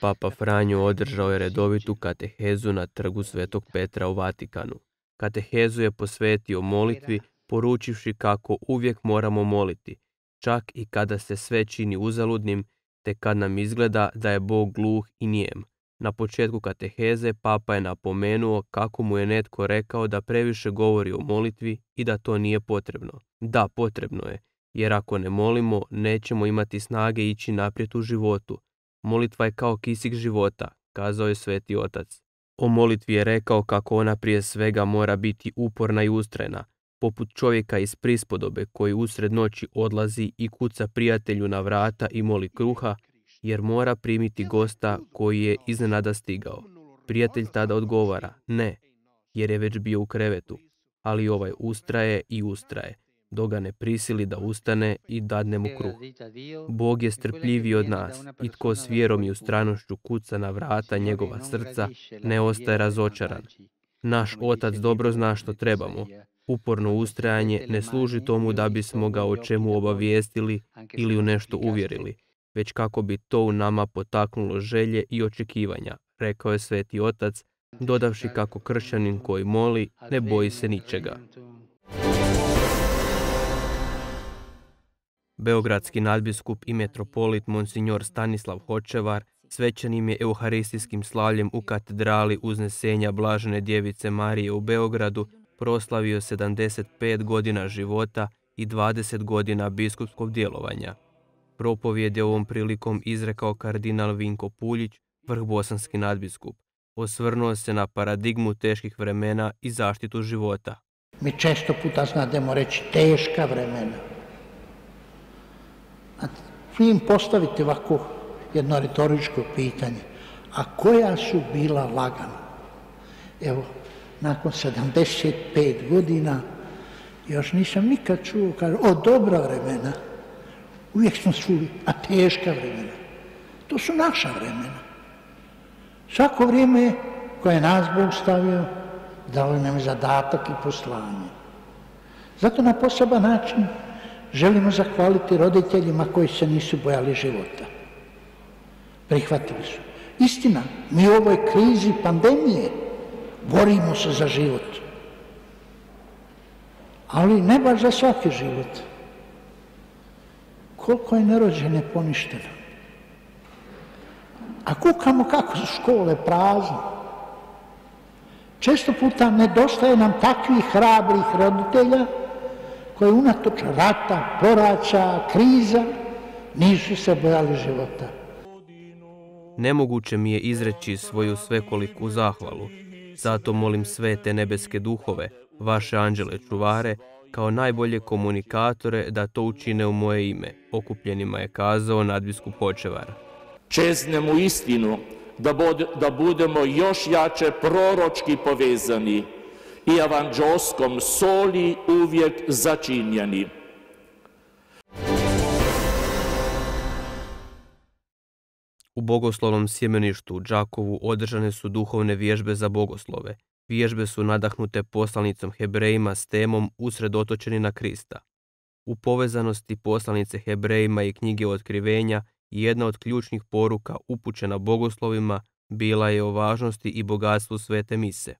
Papa Franjo održao je redovitu katehezu na trgu Svetog Petra u Vatikanu. Katehezu je posvetio molitvi, poručivši kako uvijek moramo moliti, čak i kada se sve čini uzaludnim, te kad nam izgleda da je Bog gluh i nijem. Na početku kateheze Papa je napomenuo kako mu je netko rekao da previše govori o molitvi i da to nije potrebno. Da, potrebno je, jer ako ne molimo, nećemo imati snage ići naprijed u životu. Molitva je kao kisik života, kazao je Sveti Otac. O molitvi je rekao kako ona prije svega mora biti uporna i ustrajna, poput čovjeka iz prispodobe koji usred noći odlazi i kuca prijatelju na vrata i moli kruha, jer mora primiti gosta koji je iznenada stigao. Prijatelj tada odgovara, ne, jer je već bio u krevetu, ali ovaj ustraje i ustraje, dok ga ne prisili da ustane i dadne mu kruh. Bog je strpljiviji od nas i tko s vjerom i ustrajnošću kuca na vrata njegova srca, ne ostaje razočaran. Naš Otac dobro zna što trebamo. Uporno ustrajanje ne služi tomu da bismo ga o čemu obavijestili ili u nešto uvjerili, već kako bi to u nama potaknulo želje i očekivanja, rekao je Sveti Otac, dodavši kako kršćanin koji moli ne boji se ničega. Beogradski nadbiskup i metropolit Monsignor Stanislav Hočevar svećenim je euharistijskim slavljem u katedrali Uznesenja Blažene Djevice Marije u Beogradu proslavio 75 godina života i 20 godina biskupskog djelovanja. Propovijed je ovom prilikom izrekao kardinal Vinko Puljić, vrhbosanski nadbiskup. Osvrnuo se na paradigmu teških vremena i zaštitu života. Mi često puta znademo reći teška vremena. Vi im postavite ovako jedno retoričko pitanje, a koja su bila lagana? Evo, nakon 75 godina još nisam nikad čuo, kaže, o dobra vremena. Uvijek smo čuli, a teška vremena. To su naša vremena. Svako vrijeme koje je nas Bog stavio, dao nam zadatak i poslanje. Zato na poseban način želimo zahvaliti roditeljima koji se nisu bojali života. Prihvatili su. Istina, mi u ovoj krizi pandemije borimo se za život. Ali ne baš za svaki život. Koliko je nerođene poništeno. A kukamo kako su škole prazne. Često puta nedostaje nam takvih hrabrih roditelja koji unatoč rata, poraća, kriza nisu se bojali života. Nemoguće mi je izreći svoju svekoliku zahvalu. Zato molim sve te nebeske duhove, vaše anđele čuvare, kao najbolje komunikatore da to učine u moje ime, okupljenima je kazao nadbiskup Hočevar. Čeznemo istinu da budemo još jače proročki povezani i evanđelskom soli uvijek začinjeni. U bogoslovnom sjemeništu u Đakovu održane su duhovne vježbe za bogoslove. Vježbe su nadahnute poslanicom Hebrejima s temom usredotočeni na Krista. U povezanosti poslanice Hebrejima i knjige Otkrivenja jedna od ključnih poruka upućena bogoslovima bila je o važnosti i bogatstvu svete mise.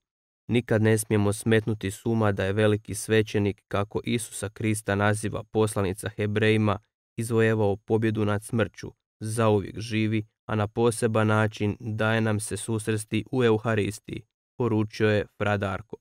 Nikad ne smijemo smetnuti s uma da je veliki svećenik, kako Isusa Krista naziva poslanica Hebrejima, izvojevao pobjedu nad smrću, zauvijek živi, a na poseban način daje nam se susresti u Euharistiji, poručio je fra Darko.